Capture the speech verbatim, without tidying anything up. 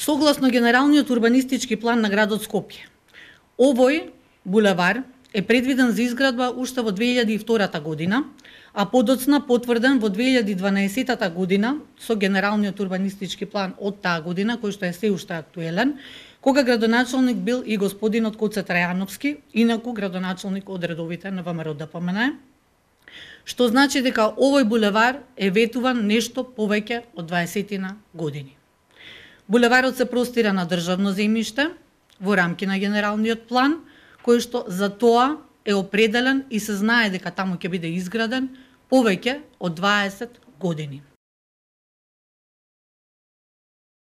Согласно генералниот урбанистички план на градот Скопје, овој булевар е предвиден за изградба уште во две илјади и втора година, а подоцна потврден во две илјади и дванаесета година со генералниот урбанистички план од таа година, кој што е се уште актуелен, кога градоначалник бил и господинот Коце Трајановски, инаку градоначалник од редовите на ВМРО Д П М Н, што значи дека овој булевар е ветуван нешто повеќе од дваесетина години. Булеварот се простира на државно земјиште во рамки на генералниот план, кој што за тоа е определен и се знае дека таму ќе биде изграден повеќе од дваесет години.